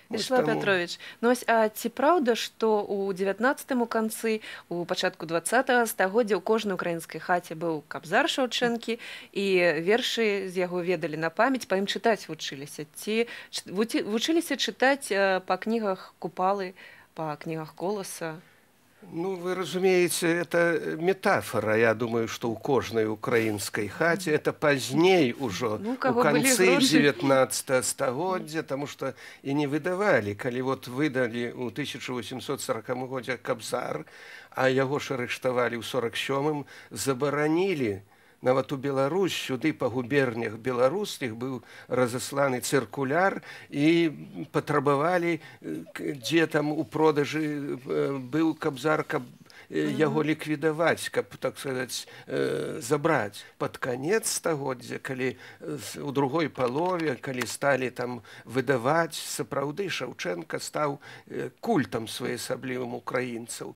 Вячеслав Петрович, ну ось, а ці праўда, што ў 19 канцы, у пачатку 20 стагоддзя ў кожнай украінскай хаце быў кабзар Шаўчэнкі, і вершы з яго ведалі на памяць, па ім чытаць вучыліся? Ці вучыліся чытаць па кнігах Купалы, па кнігах Коласа? Ну, вы разумеете, это метафора. Я думаю, что у каждой украинской хате это поздней уже, Ну, у были конце гроши. 19 стагоддзя, потому что и не выдавали. Коли вот выдали у 1840 году кабзар, а его ж арыштовали в 47-м, забаранили. Нават у Беларусь, сюды па губернях беларускіх быў разасланы цыркуляр і патрабавалі, дзе там у продажы быў кабзар, каб яго ліквідаваць, каб, так сказаць, забраць. Пад канец стагоддзя, калі у другой палове, калі сталі там выдаваць, сапраўды Шаўчэнка стаў культам своеасаблівым украінцаў.